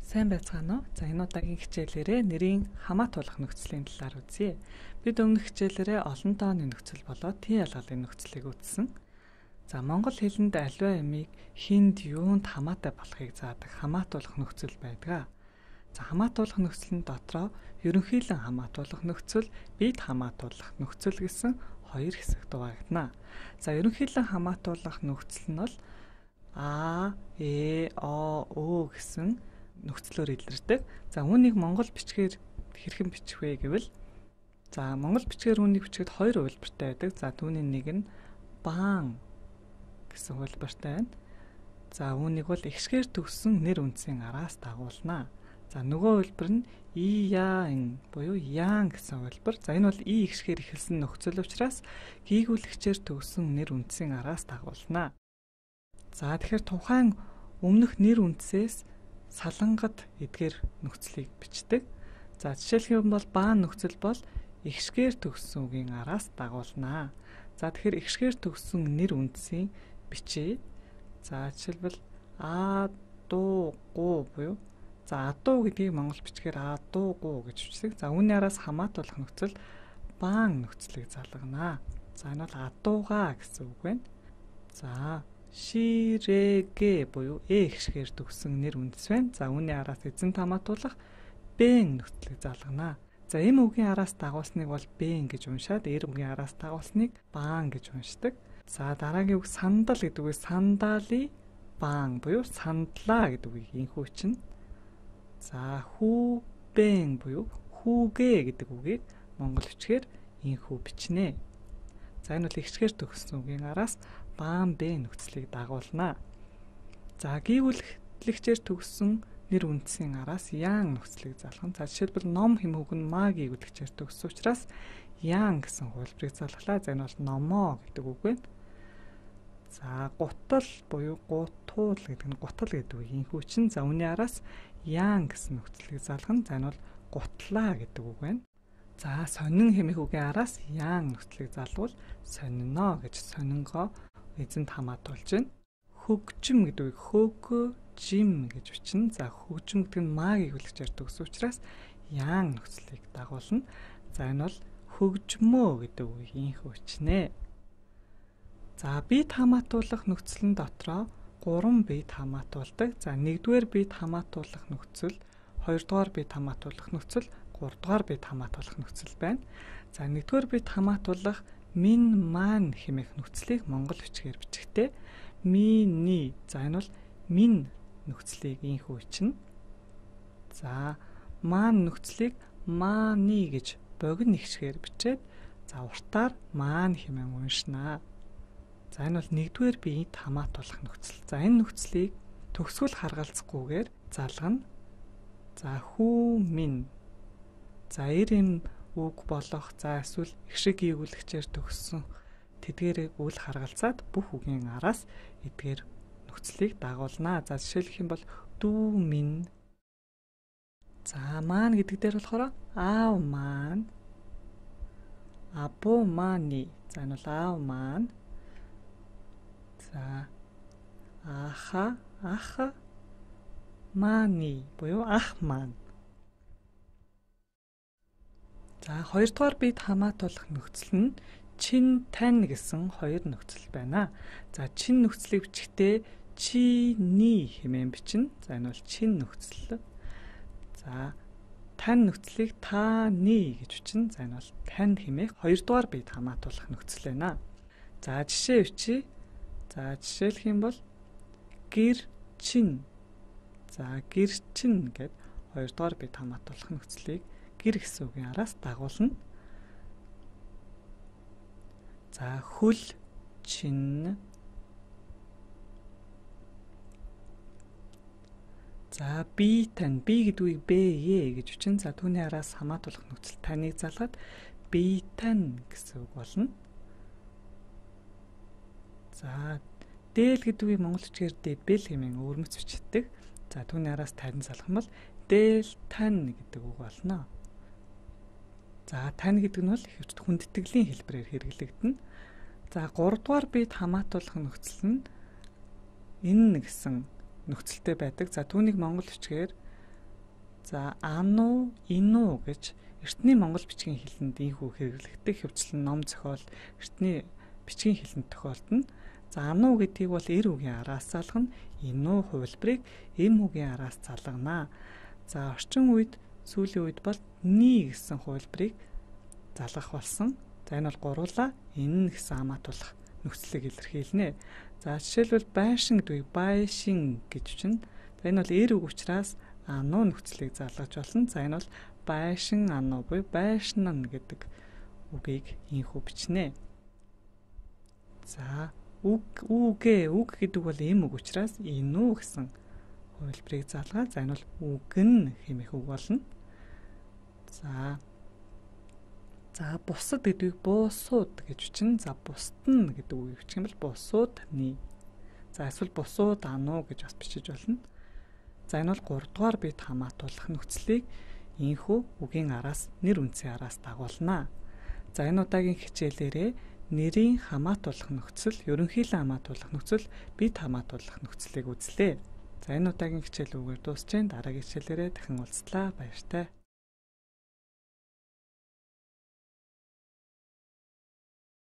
Сайн байцгаана уу? За энэ удаагийн хичээлээрээ нэрийн хамаатуулах нөхцөлийн талаар үзье. Бид өмнөх хичээлээрээ олон тооны нөхцөл болоод тийн ялгалын нөхцөлийг үзсэн. За монгол хэлэнд аливаа ямиг хинд юунд хамаатай болохыг заадаг хамаатуулах нөхцөл байдаг. За хамаатуулах нөхцөлн дотроо ерөнхийлөн хамаатуулах нөхцөл, бид хамаатуулах нөхцөл гэсэн хоёр хэсэгт хуваагдана. За ерөнхийлөн хамаатуулах нөхцөл нь бол А, Э, О, Ö гэсэн нөхцлөөр илэрдэг. За үүнийг монгол бичгээр хэрхэн бичих вэ гэвэл монгол бичгээр үүнийг бичгээд хоёр хувилбартай байдаг. За түүний нэг нь баан гэсэн хувилбартай байна. За үүнийг бол ихшгээр төгссөн нэр үндсийн араас дагуулна. За нөгөө хувилбар нь яан буюу яан гэсэн хувилбар. За энэ бол ихшгээр эхэлсэн нөхцөл учраас гийгүүлэгчээр төгссөн нэр үндсийн араас дагуулна. За тэгэхээр тухайн өмнөх нэр үндсээс салангад эдгээр нөхцөлийг бичдэг. За жишээлх юм бол баан нөхцөл бол ихшгээр төгссөн үгийн араас дагуулна. За тэгэхээр ихшгээр төгссөн нэр үндсийн бичээ. За жишээлбэл а дуу гу буюу адуу гэдгийг монгол бичгээр адуу гу гэж бичдэг. За үүний араас хамаатуулах нөхцөл баан нөхцөлийг залгана. За энэ бол адууга гэсэн үг байна. За ширэгэ буюу ихшгээр төгссөн нэр үндэс байна. За үүний араас эзэнт хамаатуулах бэн нөхцөлийг залгана. За эм үгийн араас дагуулсныг бол бэн гэж уншаад, эр үгийн араас дагуулсныг баан гэж уншдаг. За дараагийн үг сандал гэдэг үг сандали баан буюу сандлаа гэдэг үгийг инхүү чинь. За хүүбэн буюу хүүгэ гэдэг үгийг монгол бичгээр инхүү бичнэ. За энэ бол ихшгээр төгссөн үгийн араас баан бэ нөхцөлийг дагуулна. За гийгүүлэгчээр төгссөн нэр үндсийн араас яан нөхцөлийг залгана. За жишээлбэл ном хэм үг нь ма гийгүүлэгчээр төгссөн учраас яан гэсэн хувилбарыг залглаа. За энэ бол номоо гэдэг үг байна. За гутал буюу гутуул гэдэг нь гутал гэдэг үг инхүү чинь. За үүний араас яан гэсэн нөхцөлийг залгана. За энэ бол гутлаа гэдэг үг байна. За сонин хэмээх үгийн араас яан нөхцөлийг залгуул сонино гэж сонингоо эзэнт хамаатуулж байна. Хөгжим гэдэг үг хөгжим гэж бичнэ. За хөгжим гэдэг нь ма гийгүүлэгчээр төгссөн учраас яан нөхцөлийг дагуулна. За энэ бол хөгжмөө гэдэг үг инхүү бичнэ. За бид хамаатуулах нөхцөлн дотроо 3 бид хамаатуулдаг. За 1-р бид хамаатуулах нөхцөл, 2-р бид хамаатуулах нөхцөл, 3-р бид хамаатуулах нөхцөл байна. За 1-р бид хамаатуулах мин маань хэмээх нөхцөлийг монгол бичгээр бичихтэй миний. За энэ бол мин нөхцөлийг инхүү бичнэ. За маань нөхцөлийг мааны гэж богино ихшгээр бичээд за уртаар маань хэмээн уншнаа. За энэ бол 1-р бид хамаатуулах нөхцөл. За энэ нөхцөлийг төгсгөл харгалзахгүйгээр залгана. За хүү минь. За эм үг болох за эсвэл ихшиг гийгүүлэгчээр төгссөн тэдгээрийг үл харгалзаад бүх үгийн араас эдгээр нөхцөлийг дагуулна. За жишээлх юм бол дүү минь. За маань гэдэг дээр болохоор аав маань, абуу мааны. За энэ бол аав маань. За ах мааны буюу ах маань. За 2-р бид хамаатуулах нөхцөл нь чин тань гэсэн хоёр нөхцөл байна. За чин нөхцөлийг бичихтэй чиний хэмээн бичнэ. За энэ бол чин нөхцөл. За тань нөхцөлийг тааны гэж бичнэ. За энэ бол тань хэмээх 2-р бид хамаатуулах нөхцөл байна. За жишээ бичиж. За жишээлх юм бол гэр чин. За гэр чин гэд 2-р бид хамаатуулах нөхцөлийг гэр гэсэн үгийн араас дагуулна. За хөл чин. За би тань. Би гэдэг үгийг бэ гэж бичнэ. За түүний араас хамаатуулах нөхцөл таныг залгаад би тань гэсэн үг болно. За дээл гэдэг үгийг монгол бичгээр дэбэл хэмээн өвөрмөц бичдэг. За түүний араас тань залгах юм бол дээл тань гэдэг үг болно. За тань гэдэг нь бол ихэвчлэн хүндэтгэлийн хэлбэрээр хэрэглэгдэнэ. За 3-р бид хамаатуулах нөхцөл нь энэ гэсэн нөхцөлтэй байдаг. За түүнийг монгол бичгээр За ану, ину гэж эртний монгол бичгийн хэлэнд ийхүү хэрэглэгдэх хөвчлэн ном зохиол эртний бичгийн хэлэнд тохиолдно. За ану гэдгийг бол эр үгийн араас залгана, ину хувилбарыг эм үгийн араас залгана. За орчин үед сүүлийн үед бол ни гэсэн хувилбарыг залгах болсон. За энэ бол гуруула энэ гэсэн хамаатуулах нөхцөлийг илэрхийлнэ. За жишээлбэл байшин гэдгийг байшин гэж чинь. За энэ бол эр үг учраас ану нөхцөлийг залгаж болно. За энэ бол байшин ану буюу байшин гэдэг үгийг ийхүү бичнэ. За үг гэдэг бол эм үг учраас ину гэсэн хувилбарыг залгаад за энэ бол үгэн хэмээх үг болно. За бусад гэдгийг буусууд гэж бичнэ. За бусдын гэдэг үгийг бичих юм бол бусуудны. За эсвэл бусууд ану гэж бас бичиж болно. За энэ бол 3 дугаар бит хамаатуулах нөхцөлийг ийхүү үгийн араас нэр үндсийн араас дагуулна. За энэ удаагийн хичээлээрээ нэрийн хамаатуулах нөхцөл, ерөнхийлөн хамаатуулах нөхцөл, бит хамаатуулах нөхцөлийг үзлээ. За энэ удаагийн хичээл үгээр дуусч, дараагийн хичээлээрээ дахин уулзлаа. Баяртай.